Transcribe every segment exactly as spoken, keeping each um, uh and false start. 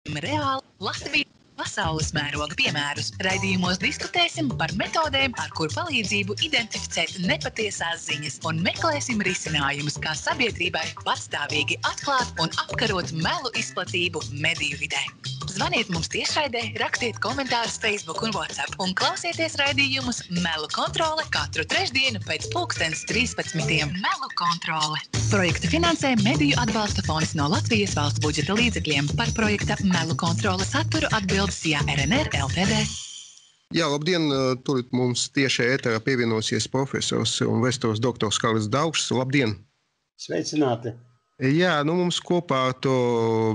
Reāli Latvijas pasaules mēroga piemērus. Raidījumos diskutēsim par metodēm, ar kur palīdzību identificēt nepatiesās ziņas un meklēsim risinājumus, kā sabiedrībai patstāvīgi atklāt un apkarot melu izplatību mediju vidē. Zvaniet mums tiešraidē, rakstiet komentārus Facebook un WhatsApp un klausieties raidījumus Melu kontrole katru trešdienu pēc pulkstens trīspadsmitiem. Melu kontrole. Projekta finansē Mediju atbalsta fonds no Latvijas valsts budžeta līdzekļiem. Par projekta Melu kontrole saturu atbildes Jā R N R L T D. Jā, labdien! Tur mums tieši ēterā pievienosies profesors un vēstures doktors Kārlis Daugšs. Labdien! Sveicināti! Jā, nu mums kopā ar to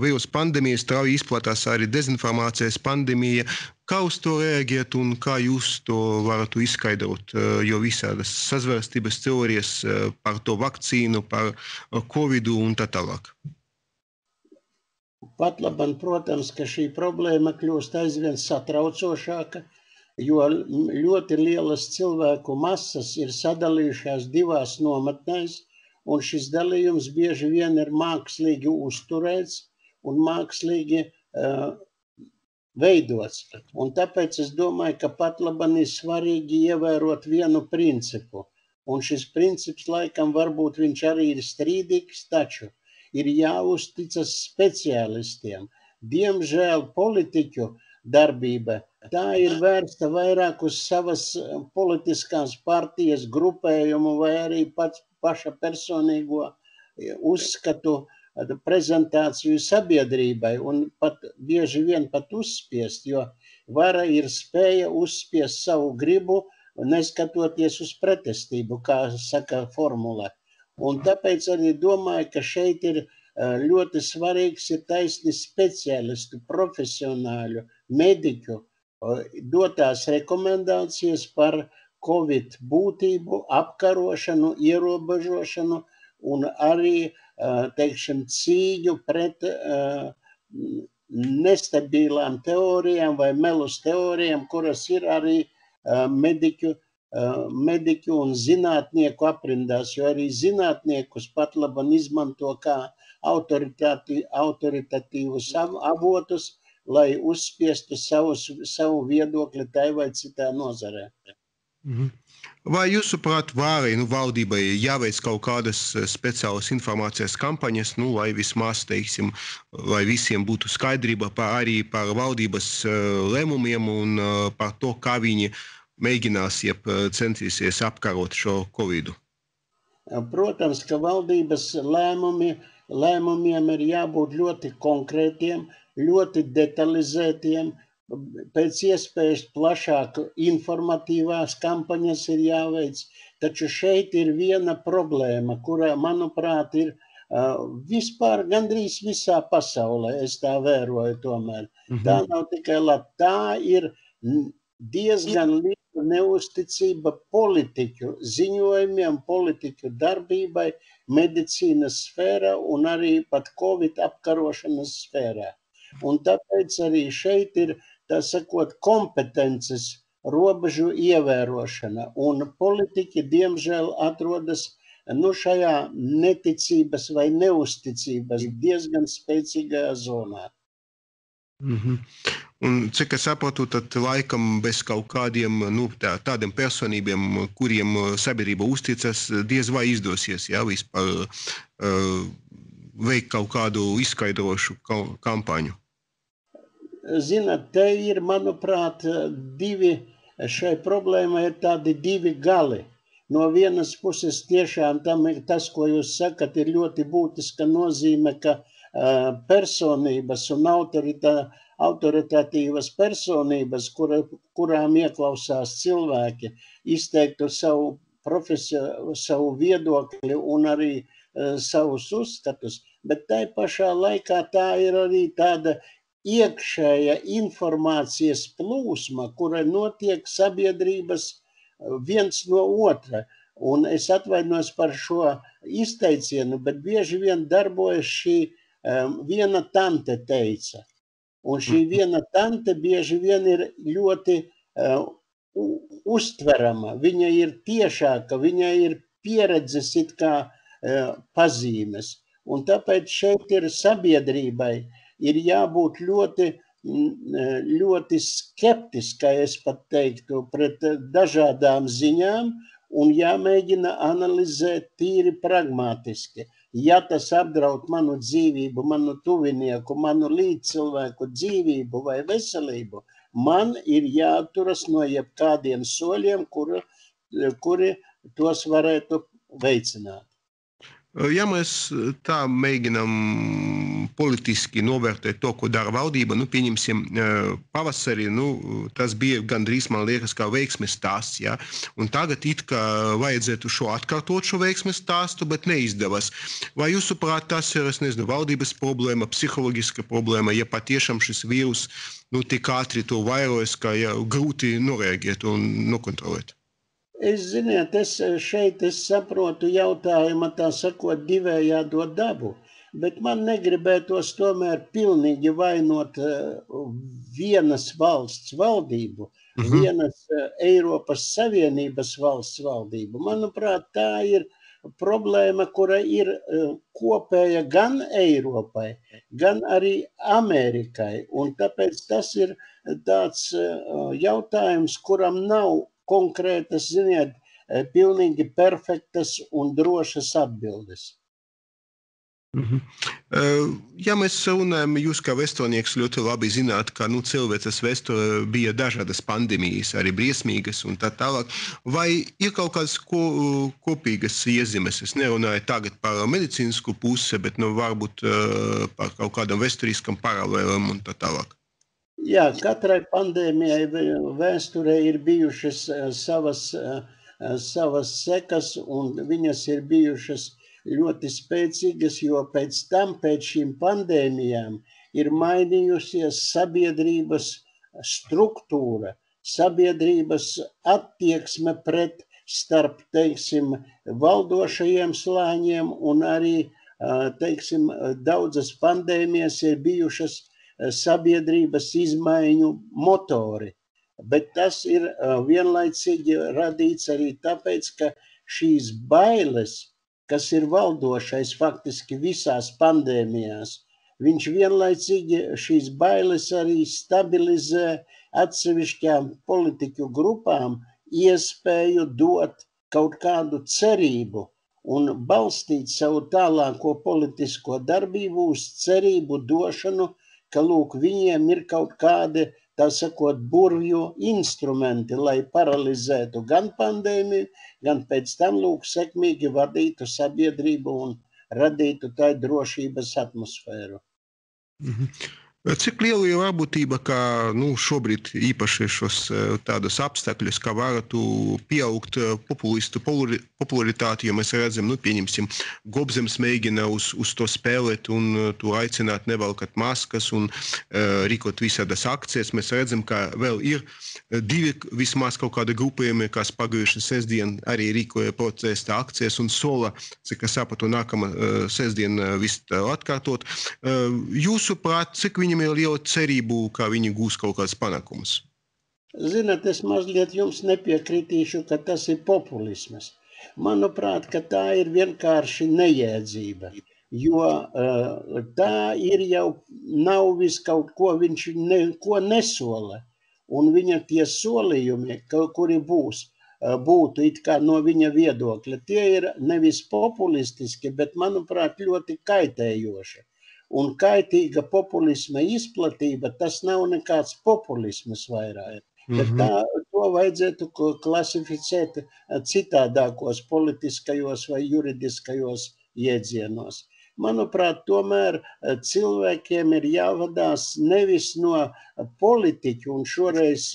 vīrusu pandēmiju strauji izplatās arī dezinformācijas pandēmija. Kā uz to reaģēt un kā jūs to varat izskaidrot, jo visādas sazvērstības teorijas par to vakcīnu, par covidu un tā tālāk? Pat labam, protams, ka šī problēma kļūst aizvien satraucošāka, jo ļoti lielas cilvēku masas ir sadalījušās divās nometnēs, un šis dalījums bieži vien ir mākslīgi uzturēts un mākslīgi uh, veidots. Un tāpēc es domāju, ka pat labam ir svarīgi ievērot vienu principu. Un šis princips laikam varbūt viņš arī ir strīdīgs, taču ir jāuzticas speciālistiem. Diemžēl politiķu darbība tā ir vērsta vairāk uz savas politiskās partijas grupējumu vai arī pats paša personīgo uzskatu prezentāciju sabiedrībai un pat bieži vien pat uzspiest, jo vara ir spēja uzspiest savu gribu, neskatoties uz pretestību, kā saka formula. Un tāpēc arī domāju, ka šeit ir ļoti svarīgs ir taisni speciālistu, profesionāļu, mediķu dotās rekomendācijas par Covid būtību, apkarošanu, ierobežošanu un arī, teiksim, cīņu pret nestabilām teorijām vai melus teorijām, kuras ir arī mediķu, mediķu un zinātnieku aprindās, jo arī zinātniekus pat labam izmanto kā autoritatīvus avotus, lai uzspiestu savus, savu viedokli tai vai citā nozarē. Vai jūsuprāt, vārai, nu, valdībai jāveic kaut kādas speciālas informācijas kampaņas, nu, lai vismaz, teiksim, lai visiem būtu skaidrība par, arī par valdības lēmumiem un par to, kā viņi mēģinās, jeb centīsies apkarot šo covidu? Protams, ka valdības lēmumi, lēmumiem ir jābūt ļoti konkrētiem, ļoti detalizētiem, pēc iespējas plašāk informatīvās kampaņas ir jāveic, taču šeit ir viena problēma, kura, manuprāt, ir uh, vispār gandrīz visā pasaulē, es tā vēroju tomēr. Mm-hmm. Tā nav tikai labi, tā ir diezgan liela neusticība politiķu ziņojumiem, politiķu darbībai, medicīnas sfērā un arī pat Covid apkarošanas sfērā. Un tāpēc arī šeit ir, tā sakot, kompetences robežu ievērošana, un politiķi, diemžēl, atrodas nu, šajā neticības vai neusticības diezgan spēcīgajā zonā. Mm-hmm. Un cik es saprotu, tad laikam bez kaut kādiem nu, tā, tādiem personībiem, kuriem sabiedrība uzticas, diez vai izdosies, jā, vispār uh, veikt kaut kādu izskaidrošu kampaņu. Zināt, te ir, manuprāt, divi, šai problēmai ir tādi divi gali. No vienas puses tiešām tam ir tas, ko jūs sakat, ir ļoti būtiska nozīme, ka uh, personības un autoritā, autoritatīvas personības, kura, kurām ieklausās cilvēki, izteiktu savu profesiju, savu viedokli un arī uh, savus uzskatus, bet tai pašā laikā tā ir arī tāda iekšēja informācijas plūsma, kura notiek sabiedrības viens no otra. Un es atvainojos par šo izteicienu, bet bieži vien darbojas šī um, viena tante teica. Un šī viena tante bieži vien ir ļoti uh, uztverama. Viņa ir tiešāka, viņa ir pieredzes it kā uh, pazīmes. Un tāpēc šeit ir sabiedrībai ir jābūt ļoti, ļoti skeptiskai, es pat teiktu, pret dažādām ziņām un jāmēģina analizēt tīri pragmatiski. Ja tas apdraud manu dzīvību, manu tuvinieku, manu līdzcilvēku dzīvību vai veselību, man ir jāturas no jebkādiem soļiem, kuri, kuri tos varētu veicināt. Ja mēs tā mēģinām politiski novērtēt to, ko dara valdība, nu, pieņemsim pavasarī, nu, tas bija gandrīz, man liekas, kā veiksmes stāsts, ja? Un tagad it kā vajadzētu šo atkārtot šo veiksmes stāstu, bet neizdevas. Vai jūsuprāt, tas ir, es nezinu, valdības problēma, psiholoģiska problēma, ja patiešām šis vīrus, nu, tik ātri to vairojas, ka ja, grūti noreaģēt un nokontrolēt? Es, ziniet, es šeit es saprotu jautājuma, tā sakot, divējādo dabu, bet man negribētos tomēr pilnīgi vainot vienas valsts valdību, uh-huh. vienas Eiropas Savienības valsts valdību. Manuprāt, tā ir problēma, kura ir kopēja gan Eiropai, gan arī Amerikai, un tāpēc tas ir tāds jautājums, kuram nav konkrētas, ziniet, pilnīgi perfektas un drošas atbildes. Mhm. Ja mēs runājam, jūs kā vēsturnieks ļoti labi zināt, ka nu, cilvēces vēsture bija dažādas pandēmijas, arī briesmīgas un tā tālāk. Vai ir kaut kādas ko, kopīgas iezīmes? Es nerunāju tagad par medicīnisku pusi, bet nu, varbūt par kaut kādam vēsturiskam paralēlam un tā tālāk. Jā, katrai pandēmijai vēsturē ir bijušas savas, savas sekas, un viņas ir bijušas ļoti spēcīgas, jo pēc tam, pēc šīm pandēmijām, ir mainījusies sabiedrības struktūra, sabiedrības attieksme pret starp, teiksim, valdošajiem slāņiem, un arī, teiksim, daudzas pandēmijas ir bijušas sabiedrības izmaiņu motori, bet tas ir vienlaicīgi radīts arī tāpēc, ka šīs bailes, kas ir valdošais faktiski visās pandēmijās, viņš vienlaicīgi šīs bailes arī stabilizē atsevišķām politiķu grupām iespēju dot kaut kādu cerību un balstīt savu tālāko politisko darbību uz cerību došanu, ka, lūk, viņiem ir kaut kādi, tā sakot, burvju instrumenti, lai paralizētu gan pandēmiju, gan pēc tam, lūk, sekmīgi vadītu sabiedrību un radītu tai drošības atmosfēru. Mhm. Cik liela ir varbūtība, ka nu, šobrīd īpaši šos tādus apstākļus, ka varētu pieaugt populistu popularitāti, jo mēs redzam, nu, pieņemsim, Gobzems mēģina uz, uz to spēlēt un to aicināt nevalkat maskas un uh, rīkot visādas akcijas. Mēs redzam, ka vēl ir divi vismaz kaut kādi grupējumi, kas pagājuši sestdien arī rīkoja protesta akcijas un sola, cik es sapratu, nākama uh, sestdien uh, viss atkārtot. Uh, jūsuprāt, cik viņam ir liela cerību, ka viņi gūs kaut kāds panākums? Zināt, es mazliet jums nepiekritīšu, ka tas ir populismas. Manuprāt, ka tā ir vienkārši nejēdzība, jo uh, tā ir jau nav vis kaut ko, viņš neko nesola. Un viņa tie solījumi, kuri būs, būtu it kā no viņa viedokļa, tie ir nevis populistiski, bet, manuprāt, ļoti kaitējoši. Un kaitīga populisma izplatība, tas nav nekāds populismas vairāk. Mm-hmm. Bet tā, to vajadzētu klasificēt citādākos politiskajos vai juridiskajos iedzienos. Manuprāt, tomēr cilvēkiem ir jāvadās nevis no politiķu, un šoreiz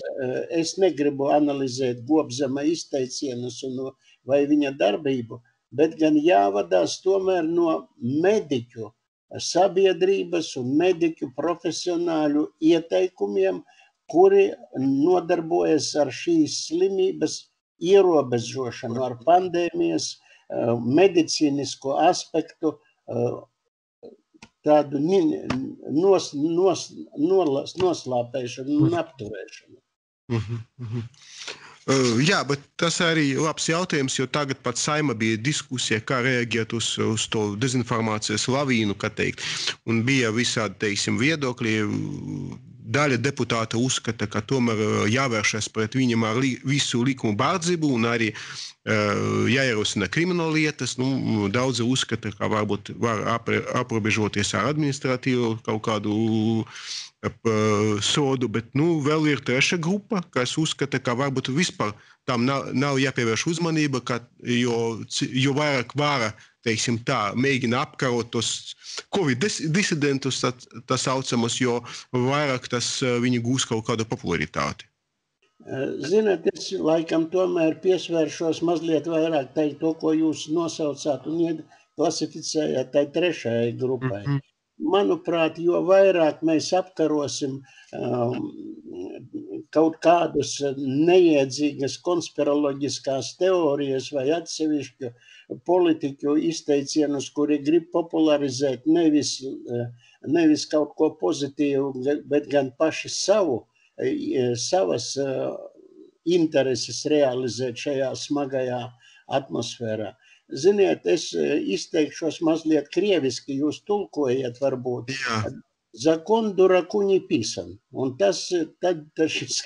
es negribu analizēt Gobzema izteicienus un vai viņa darbību, bet gan jāvadās tomēr no mediķu sabiedrības un mediķu profesionāļu ieteikumiem, kuri nodarbojas ar šīs slimības ierobežošanu, ar pandēmijas medicīnisko aspektu tādu nos, nos, nolas, noslāpēšanu un apturēšanu. Uh-huh, uh-huh. Uh, jā, bet tas arī labs jautājums, jo tagad pat Saima bija diskusija, kā reaģēt uz, uz to dezinformācijas lavīnu, kā teikt. Un bija visādi, teiksim, viedokļi. Daļa deputāta uzskata, ka tomēr jāvēršas pret viņam ar li, visu likumu bārdzību un arī uh, jāierosina krimināllietas. Nu, daudzi uzskata, ka varbūt var apre, aprobežoties ar administratīvu kaut kādu sodu, bet nu, vēl ir treša grupa, kas uzskata, ka varbūt vispār tam nav, nav jāpievērš uzmanība, ka, jo, jo vairāk vara, teiksim tā, mēģina apkarot tos Covid disidentus, tā, tā saucamos, jo vairāk tas viņi gūs kaut kādu popularitāti. Ziniet, es laikam tomēr piesvēršos mazliet vairāk teikt to, ko jūs nosaucāt un klasificējāt tai trešajai grupai. Mm-hmm. Manuprāt, jo vairāk mēs apkarosim um, kaut kādus neiedzīgas konspiroloģiskās teorijas vai atsevišķu politiķu izteicienus, kuri grib popularizēt nevis, nevis kaut ko pozitīvu, bet gan paši savu, savas intereses realizēt šajā smagajā atmosfērā. Ziniet, es izteikšos mazliet krieviski, jūs tulkojiet varbūt. Jā. Zakon durakuņi pisan. Un tas, tad, tas šis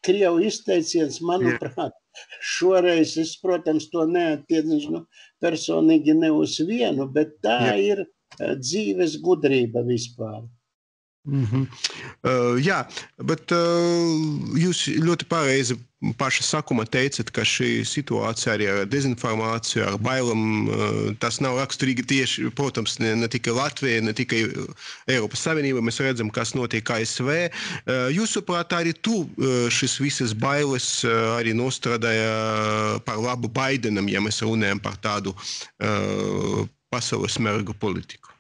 krievu izteiciens, manuprāt, šoreiz es, protams, to neattiecinu personīgi ne uz vienu, bet tā Jā. Ir dzīves gudrība vispār. Mm-hmm. uh, jā, bet uh, jūs ļoti pareizi paša sakuma teicat, ka šī situācija arī ar dezinformāciju, ar bailam, uh, tas nav raksturīgi tieši, protams, ne, ne tikai Latvija, ne tikai Eiropas Savienība, mēs redzam, kas notiek A S V. Uh, jūsuprāt, arī tu uh, šis visas bailes uh, arī nostradāja par labu Baidenam, ja mēs runājam par tādu uh, pasaules mērga politiku?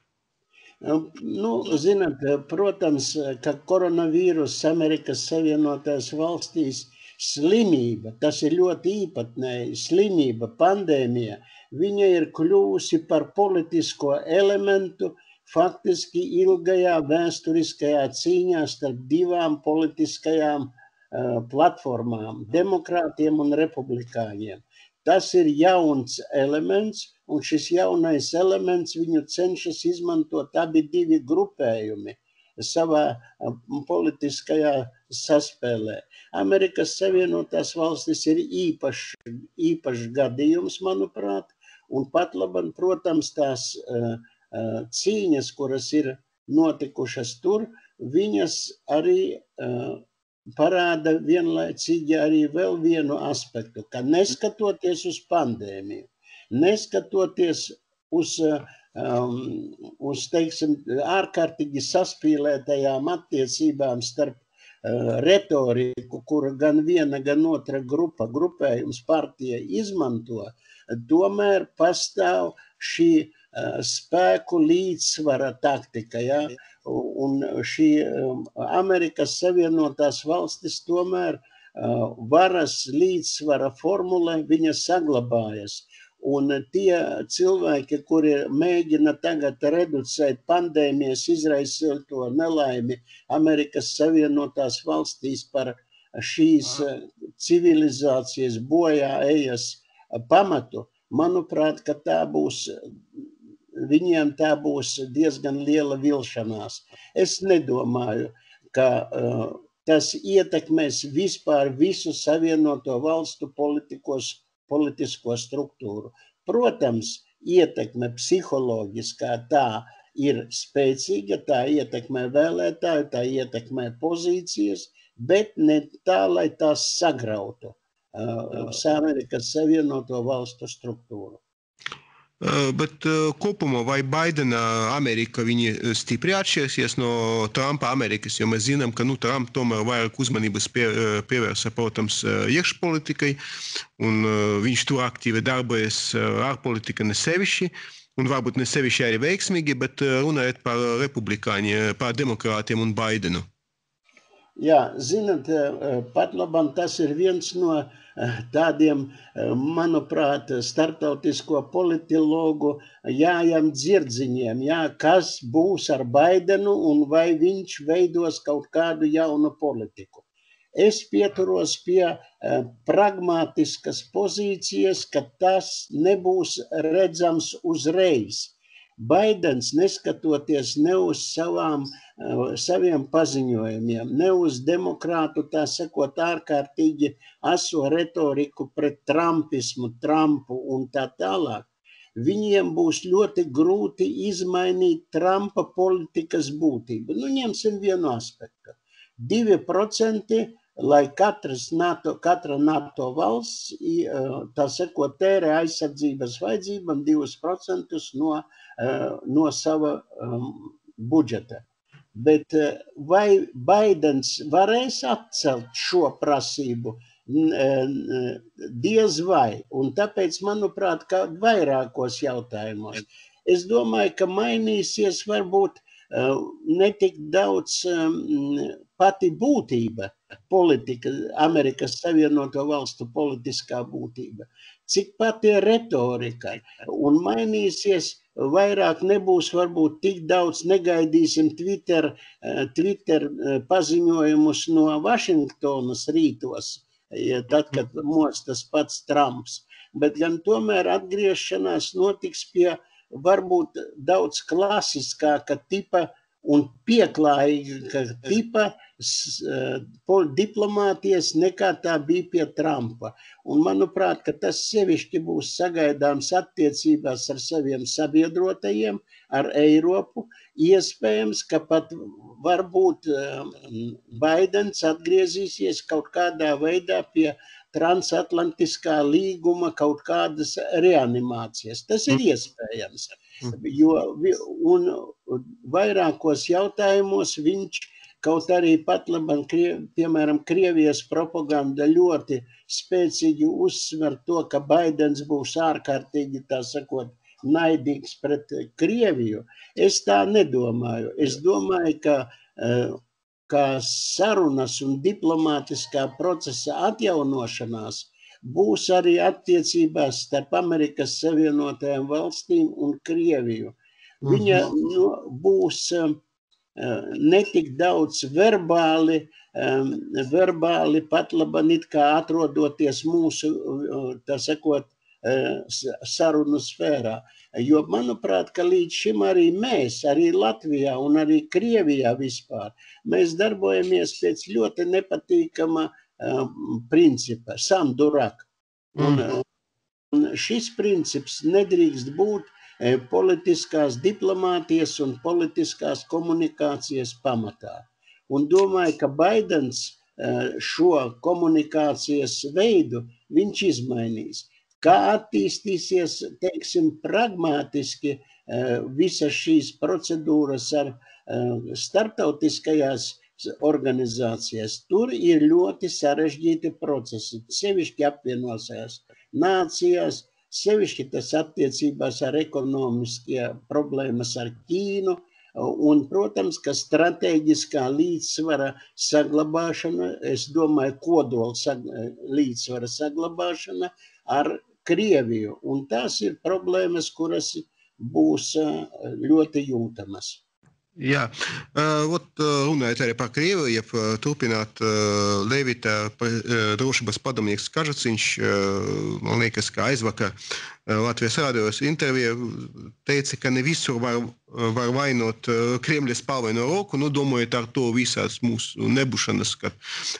Nu, zināt, protams, ka koronavīrus Amerikas Savienotās valstīs slimība, tas ir ļoti īpatnēji, slimība, pandēmija, viņa ir kļuvusi par politisko elementu faktiski ilgajā vēsturiskajā cīņā starp divām politiskajām uh, platformām, demokrātiem un republikāņiem. Tas ir jauns elements, un šis jaunais elements viņu cenšas izmantot abi divi grupējumi savā politiskajā saspēlē. Amerikas Savienotās valstis ir īpašs, īpašs gadījums, manuprāt, un pat labam, protams, tās uh, uh, cīņas, kuras ir notikušas tur, viņas arī uh, parāda vienlaicīgi arī vēl vienu aspektu, ka neskatoties uz pandēmiju, neskatoties uz, um, uz teiksim, ārkārtīgi saspīlētajām attiecībām starp uh, retoriku, kura gan viena, gan otra grupa, grupējums partija izmanto, tomēr pastāv šī uh, spēku līdzsvara taktika, ja? Un šī um, Amerikas Savienotās valstis tomēr uh, varas līdzsvara formula viņa saglabājas. Un tie cilvēki, kuri mēģina tagad reducēt pandēmijas izraisīto nelaimi Amerikas Savienotās valstīs par šīs civilizācijas bojā ejas pamatu, manuprāt, ka tā būs, viņiem tā būs diezgan liela vilšanās. Es nedomāju, ka uh, tas ietekmēs vispār visu Savienoto valstu politikos politisko struktūru. Protams, ietekme psiholoģiskā tā ir spēcīga, tā ietekmē vēlētāju, tā ietekmē pozīcijas, bet ne tā, lai tās sagrautu uh, Amerikas Savienoto valstu struktūru. Uh, bet uh, kopumā vai Baidena Amerika viņi stipri atšķirsies no Trumpa Amerikas, jo mēs zinām, ka nu, Trump tomēr vairāk uzmanības pie, pievērsa, protams, iekšpolitikai, un uh, viņš tur aktīvi darbojas ārpolitika ne sevišķi, un varbūt ne sevišķi arī veiksmīgi, bet runājot par republikāņiem, par demokrātiem un Baidenu. Jā, zināt, pat labam tas ir viens no tādiem, manuprāt, starptautisko politologu jājam dzirdziņiem, jā, kas būs ar Baidenu un vai viņš veidos kaut kādu jaunu politiku. es pieturos pie uh, pragmatiskas pozīcijas, ka tas nebūs redzams uzreiz. Baidens, neskatoties ne uz savām, uh, saviem paziņojumiem, ne uz demokrātu, tā sakot, ārkārtīgi aso retoriku pret trumpismu, Trumpu un tā tālāk, viņiem būs ļoti grūti izmainīt Trumpa politikas būtību. Nu, ņemsim vienu aspektu. Divi procenti, lai katras NATO, katra NATO valsts, tā sakot, tērē aizsardzības vajadzībām divus procentus no, no sava um, budžeta. Bet vai Baidens varēs atcelt šo prasību? Diez vai. Un tāpēc, manuprāt, ka vairākos jautājumos. Es domāju, ka mainīsies varbūt netik daudz pati būtība, politika, Amerikas Savienoto Valstu politiskā būtība, cik pati retorika, un mainīsies vairāk nebūs varbūt tik daudz, negaidīsim Twitter, Twitter paziņojumus no Vašingtonas rītos, tad, kad mostas pats Trumps, bet gan tomēr atgriešanās notiks pie varbūt daudz klasiskāka tipa un pieklājīga tipa diplomātijas nekā tā bija pie Trumpa. Un manuprāt, ka tas sevišķi būs sagaidāms attiecībās ar saviem sabiedrotajiem, ar Eiropu. Iespējams, ka pat varbūt Baidens atgriezīsies kaut kādā veidā pie transatlantiskā līguma kaut kādas reanimācijas. Tas ir iespējams, jo un vairākos jautājumos viņš kaut arī pat labam, piemēram, Krievijas propaganda ļoti spēcīgi uzsver to, ka Baidens būs ārkārtīgi, tā sakot, naidīgs pret Krieviju. Es tā nedomāju. Es domāju, ka ka sarunas un diplomātiskā procesa atjaunošanās būs arī attiecībās starp Amerikas Savienotajām valstīm un Krieviju. Viņa nu, būs uh, netik daudz verbāli, um, verbāli pat labam it kā atrodoties mūsu, uh, tā sakot, uh, sarunu sfērā. Jo, manuprāt, ka līdz šim arī mēs, arī Latvijā un arī Krievijā vispār, mēs darbojamies pēc ļoti nepatīkama uh, principa, samdurak. Un, uh, un šis princips nedrīkst būt uh, politiskās diplomātijas un politiskās komunikācijas pamatā. Un domāju, ka Baidens uh, šo komunikācijas veidu viņš izmainīs. Kā attīstīsies, teiksim, pragmātiski visas šīs procedūras ar starptautiskajās organizācijas. Tur ir ļoti sarežģīti procesi, sevišķi apvienosies nācijās, sevišķi tas attiecībās ar ekonomiskie problēmas ar Ķīnu, un, protams, ka strateģiskā līdzsvara saglabāšana, es domāju, kodola līdzsvara saglabāšana ar Krieviju, un tās ir problēmas, kuras būs ļoti jūtamas. Jā, ot, runājot arī par Krieviju, ja turpināt Levita drošības padomnieks Kažaciņš, man liekas, ka aizvakar Latvijas rādījos intervija teica, ka ne visur var, var vainot Kremļa spalvaino roku, nu domājot ar to visās mūsu nebūšanas, kad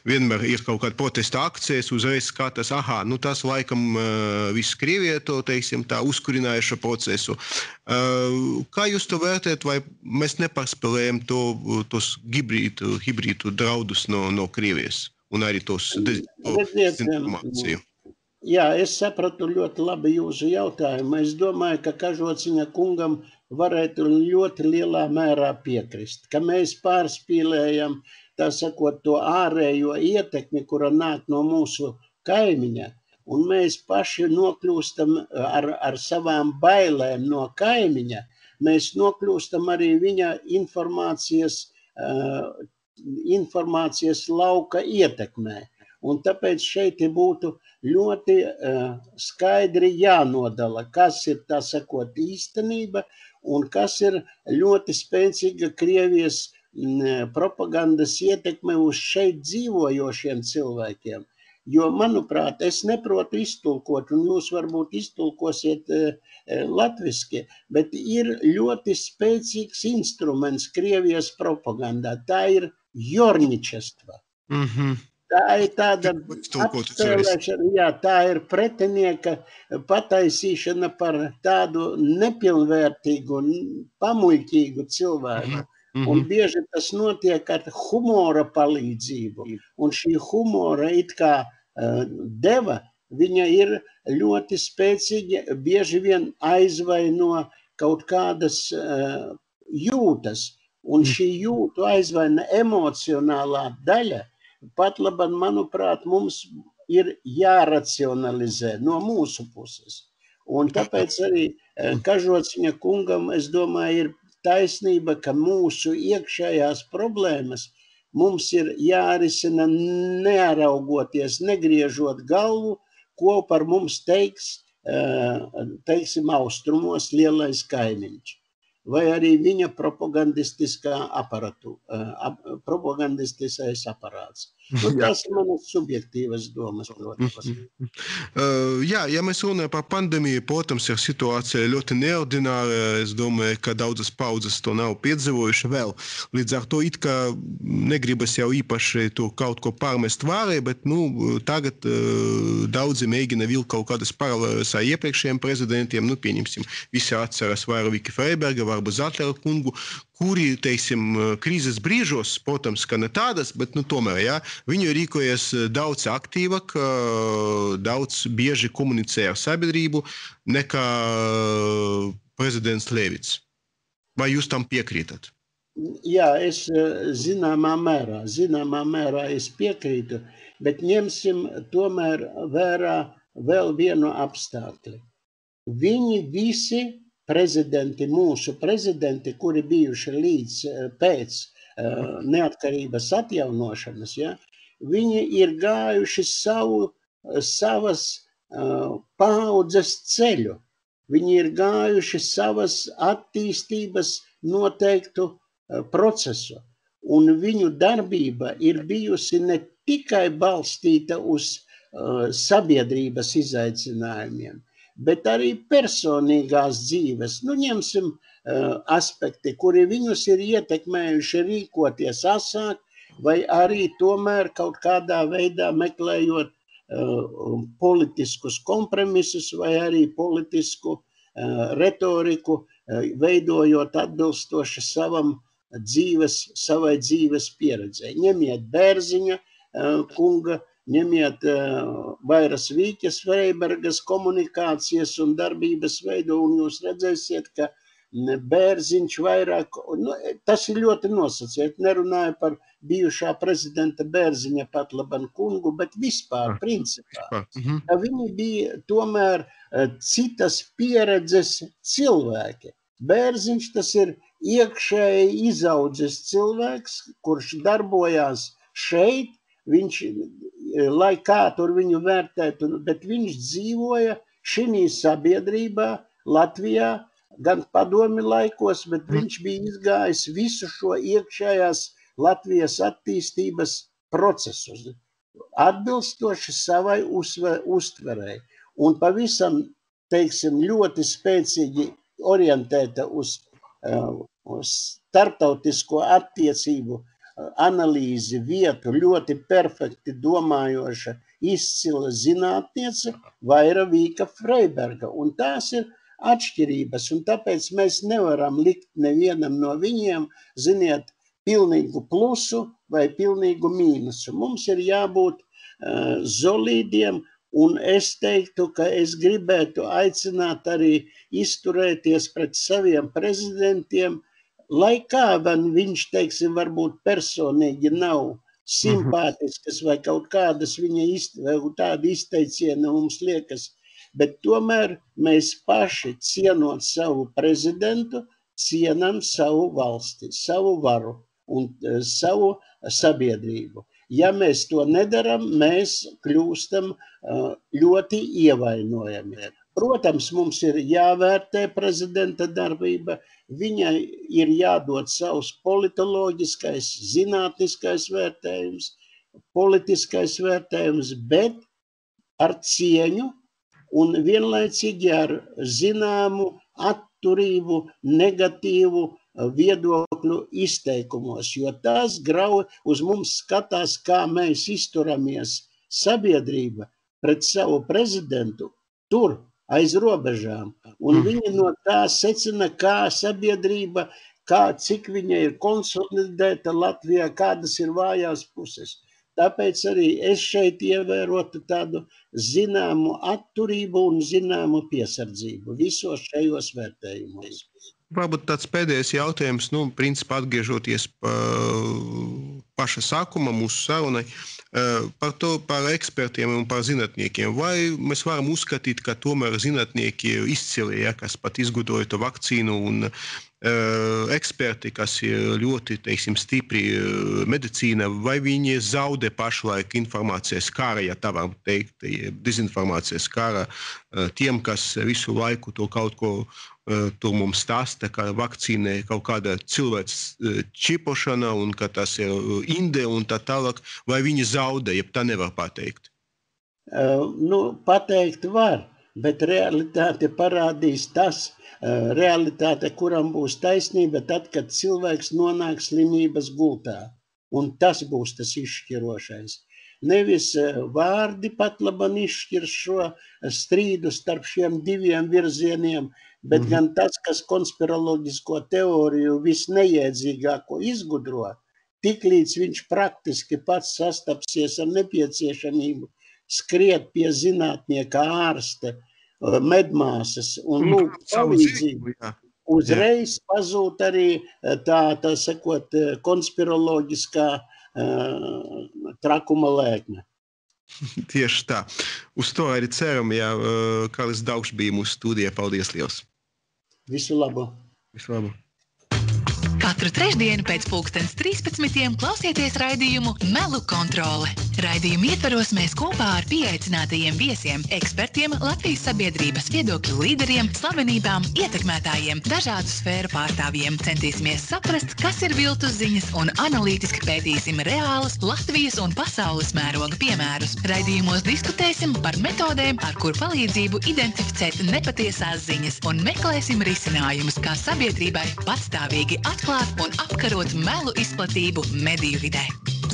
vienmēr ir kaut kāda protesta akcijas, uzreiz skatās, aha, nu tas laikam viss Krievija to, teiksim, tā uzkurinājuša procesu. Kā jūs to vērtēt, vai mēs nepārspēlējam to, tos hibrīdu, hibrīdu draudus no, no Krievijas un arī tos dezinformāciju? Jā, es sapratu ļoti labi jūsu jautājumu. Es domāju, ka Kažociņa kungam varētu ļoti lielā mērā piekrist, ka mēs pārspīlējam, tā sakot, to ārējo ietekmi, kura nāk no mūsu kaimiņa, un mēs paši nokļūstam ar, ar savām bailēm no kaimiņa, mēs nokļūstam arī viņa informācijas, uh, informācijas lauka ietekmē. Un tāpēc šeit būtu ļoti uh, skaidri jānodala, kas ir, tā sakot, īstenība un kas ir ļoti spēcīga Krievijas propagandas ietekme uz šeit dzīvojošiem cilvēkiem. Jo, manuprāt, es neprotu iztulkot, un jūs varbūt iztulkosiet e, latviski, bet ir ļoti spēcīgs instruments Krievijas propagandā. Tā ir jorničestva. Mhm. Tā ir tāda Iztulkot apspēlēšana, jā, tā ir pretinieka pataisīšana par tādu nepilnvērtīgu, pamuļķīgu cilvēku. Mhm. Un bieži tas notiek ar humora palīdzību. Un šī humora it kā uh, deva, viņa ir ļoti spēcīgi, bieži vien aizvaino kaut kādas uh, jūtas. Un šī jūtu aizvaina emocionālā daļa, pat labam, manuprāt, mums ir jāracionalizē no mūsu puses. Un tāpēc arī uh, Kažociņa kungam, es domāju, ir taisnība, ka mūsu iekšējās problēmas mums ir jārisina nearaugoties, negriežot galvu, ko par mums teiks, teiksim, austrumos lielais kaimiņš. Vai arī viņa propagandistiskā aparatu, propagandistiskais aparāts. Nu, tas ir manas subjektīvas domas, protams. Uh, jā, ja mēs runājam par pandēmiju, protams, ir situācija ļoti neordināra. Es domāju, ka daudzas paudzes to nav piedzīvojuši vēl. Līdz ar to it kā negribas jau īpaši to kaut ko pārmest vārē, bet nu, tagad uh, daudzi mēģina vilkt kaut kādas paralēlas ar iepriekšējiem prezidentiem. Nu, pieņemsim, visi atceras Vairoviku Freiberga, varbūt Zatlera kungu, kuri, teiksim, krīzes brīžos, protams, ka ne tādas, bet nu, tomēr, jā, viņi rīkojas daudz aktīvāk, daudz bieži komunicē ar sabiedrību nekā prezidents Levits. Vai jūs tam piekrītat? Jā, es zināmā mērā, zināmā mērā es piekrītu, bet ņemsim tomēr vērā vēl vienu apstākli. Viņi visi prezidenti, mūsu prezidenti, kuri bijuši līdz pēc uh, neatkarības atjaunošanas, ja, viņi ir gājuši savu, savas uh, paaudzes ceļu. Viņi ir gājuši savas attīstības noteiktu uh, procesu. Un viņu darbība ir bijusi ne tikai balstīta uz uh, sabiedrības izaicinājumiem, bet arī personīgās dzīves. Nu, ņemsim uh, aspekti, kuri viņus ir ietekmējuši rīkoties asāk, vai arī tomēr kaut kādā veidā meklējot uh, politiskus kompromisus, vai arī politisku uh, retoriku, uh, veidojot atbilstoši savam dzīves, savai dzīves pieredzei. Ņemiet Bērziņa uh, kunga, ņemiet uh, Vairas Vīķes Freibergas komunikācijas un darbības veidu, un jūs redzēsiet, ka Bērziņš vairāk, nu, tas ir ļoti nosacīt, nerunāju par bijušā prezidenta Bērziņa pat laban kungu, bet vispār, principā. Ka viņi bija tomēr uh, citas pieredzes cilvēki. Bērziņš tas ir iekšēji izaudzis cilvēks, kurš darbojās šeit, viņš, lai kā tur viņu vērtētu, bet viņš dzīvoja šī sabiedrībā Latvijā, gan padomi laikos, bet viņš bija izgājis visu šo iekšējās Latvijas attīstības procesus, atbilstoši savai uztverei. Un pavisam, teiksim, ļoti spēcīgi orientēta uz, uz starptautisko attiecību analīzi, vietu, ļoti perfekti domājoša, izcila zinātniece Vaira Vīka Freiberga. Un tās ir atšķirības, un tāpēc mēs nevaram likt nevienam no viņiem, ziniet, pilnīgu plusu vai pilnīgu mīnusu. Mums ir jābūt uh, solīdiem, un es teiktu, ka es gribētu aicināt arī izturēties pret saviem prezidentiem, lai kā viņš, teiksim, varbūt personīgi nav simpātiskas vai kaut kādas viņa izt, tādi izteicieni mums liekas, bet tomēr mēs paši cienot savu prezidentu, cienam savu valsti, savu varu un uh, savu sabiedrību. Ja mēs to nedaram, mēs kļūstam uh, ļoti ievainojami. Protams, mums ir jāvērtē prezidenta darbība, viņai ir jādod savs politoloģiskais, zinātniskais vērtējums, politiskais vērtējums, bet ar cieņu un vienlaicīgi ar zināmu atturību, negatīvu viedokļu izteikumos, jo tās grauj uz mums skatās, kā mēs izturamies sabiedrība pret savu prezidentu tur, aiz robežām. Un viņi no tā secina, kā sabiedrība, kā, cik viņa ir konsolidēta Latvijā, kādas ir vājās puses. Tāpēc arī es šeit ievērotu tādu zināmu atturību un zināmu piesardzību visos šajos vērtējumos. Varbūt tāds pēdējais jautājums, nu, principā atgriežoties pa paša sākuma mūsu sarunai, par to, par ekspertiem un par zinātniekiem. Vai mēs varam uzskatīt, ka tomēr zinātnieki izcili, ja, kas pat izgudroja to vakcīnu un uh, eksperti, kas ir ļoti, teiksim, stipri uh, medicīna, vai viņi zaudē pašlaik informācijas kara, ja tā var teikt, dezinformācijas kara uh, tiem, kas visu laiku to kaut ko tur mums stāsta, ka vakcīna ir kaut kāda cilvēks čipošana un ka tas ir inde un tā tālāk, vai viņi zaudē, ja tā nevar pateikt? Uh, nu, pateikt var, bet realitāte parādīs tas, uh, realitāte, kuram būs taisnība tad, kad cilvēks nonāk slimības gultā. Un tas būs tas izšķirošais. Nevis uh, vārdi pat laban izšķir šo strīdu starp šiem diviem virzieniem, bet mm-hmm. gan tas, kas konspiroloģisko teoriju visneiedzīgāko izgudro, tiklīdz viņš praktiski pats sastapsies ar nepieciešamību skriet pie zinātnieka ārste, medmāsas un lūgt palīdzību, uzreiz pazūd arī tā, tā sakot, konspiroloģiskā uh, trakuma lēkme. Tieši tā. Uz to arī ceram, ja Karlis Daugšs bija mūsu studijā. Paldies liels! Visu labu! Visu labu! Katru trešdienu pēc pulkstens trīspadsmitiem klausieties raidījumu Melu kontrole. Raidījumu ietvaros mēs kopā ar pieaicinātajiem viesiem, ekspertiem, Latvijas sabiedrības viedokļu līderiem, slavenībām, ietekmētājiem, dažādu sfēru pārstāvjiem centīsimies saprast, kas ir viltus ziņas un analītiski pētīsim reālus Latvijas un pasaules mēroga piemērus. Raidījumos diskutēsim par metodēm, ar kur palīdzību identificēt nepatiesās ziņas un meklēsim risinājumus, kā sabiedrībai patstāvīgi atklāt un apkarot melu izplatību mediju vidē.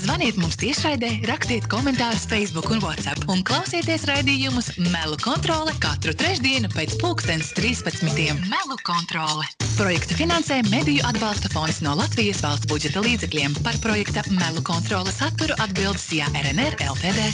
Zvaniet mums tiešraidē, rakstiet komentārus Facebook un WhatsApp un klausieties raidījumus Melu kontrole katru trešdienu pēc pulkstens trīspadsmitiem. Melu kontrole. Projektu finansē Mediju atbalsta fonds no Latvijas valsts budžeta līdzekļiem. Par projekta Melu kontrole saturu atbildes Jā R N R L T D.